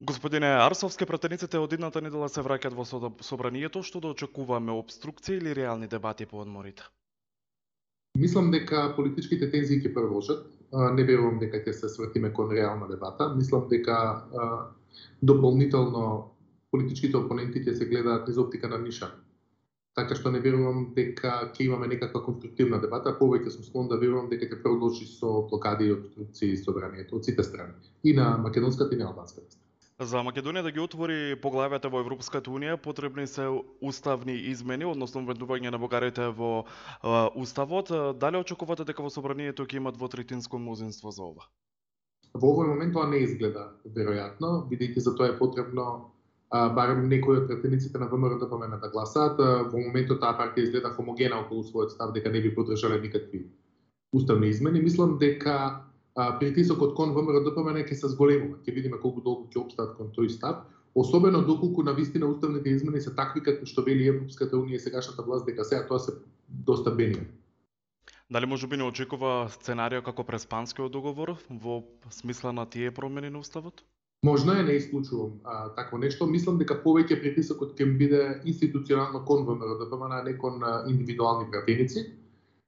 Господине Арсовски, пратениците од идната недела се враќаат во собранието, што да очекуваме обструкција или реални дебати по одморите? Мислам дека политичките тензии ќе продолжат. Не верувам дека ќе се свртиме кон реална дебата. Мислам дека дополнително политичките опоненти ќе се гледаат низ оптика на ниша. Така што не верувам дека ќе имаме некаква конструктивна дебата, повеќе сум склон да верувам дека ќе продолжи со блокади и обструкции собранието од сите страни, и на македонската и на албанската страна. За Македонија да ги отвори поглавјата во Европската унија, потребни се уставни измени, односно вмешување на бугарите во уставот. Дали очекувате дека во собранието ќе има двотретинско мнозинство за ова? Во овој момент тоа не изгледа веројатно, бидејќи за тоа е потребно барем некои од пратениците на ВМРО-ДПМН да гласаат. Во моментот таа партија изгледа хомогена околу својот став дека не би поддржале никакви уставни измени. Мислам дека притисокот кон ВМРО-ДПМН ќе се зголемува. Ќе видиме колку долго ќе опстаат кон тој став, особено доколку навистина уставните измени се такви како што вели Европската унија и сегашната власт, дека сега тоа се доста бенигно. Дали можеби не очекува сценарио како преспанскиот договор во смисла на тие промени на уставот? Можно е, не исклучувам такво нешто. Мислам дека повеќе притисокот ќе биде институционално кон ВМРО-ДПМН, а не кон индивидуални пратеници.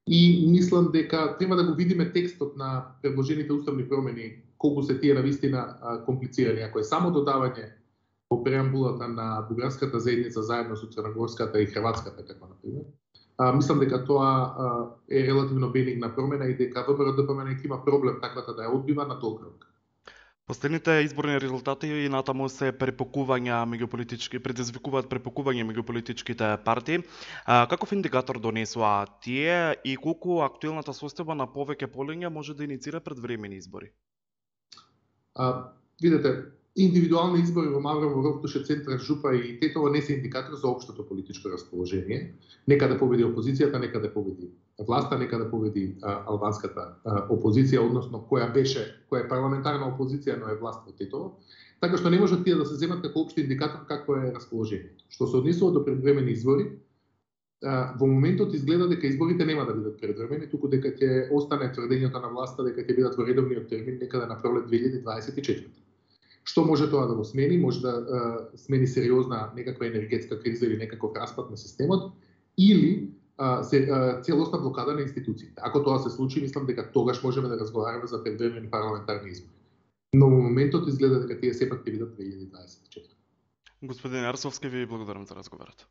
И мислам дека треба да го видиме текстот на предложените уставни промени, колку се тие навистина комплицирани. Ако е само додавање во преамбулата на бугарската заедница заедно со црногорската и хрватската, како например, мислам дека тоа е релативно бенигна промена и дека ВМРО-ДПМН ќе има проблем таквата да ја одбива на долг рок. Последните изборни резултати и натаму се предизвикуваат препокување меѓу политичките партии. Каков индикатор донесоа тие и колку актуелната состојба на повеќе полиња може да иницира предвремени избори? Видете, индивидуални избори во Маврово, Рокитуше, Центар, Жупа и Тетово не се индикатор за општото политичко расположение. Нека да победи опозицијата, нека да победи власта, нека да победи албанската опозиција, односно која е парламентарна опозиција, но е власт во Тетово. Така што не можат тие да се земат како општи индикатор какво е расположението. Што се однесува до предвремени избори, во моментот изгледа дека изборите нема да бидат предвремени, туку дека ќе остане тврдењето на власта дека ќе бидат во редовниот термин некаде на пролет 2024. Што може тоа да го смени? Може да смени сериозна некаква енергетска криза или некаков распад на системот, или целосна блокада на институциите. Ако тоа се случи, мислам дека тогаш можеме да разговараме за предвремени парламентарни избори. Но во моментот изгледа дека тие сепак ќе бидат 2024. Господин Арсовски, ви благодарам за разговорот.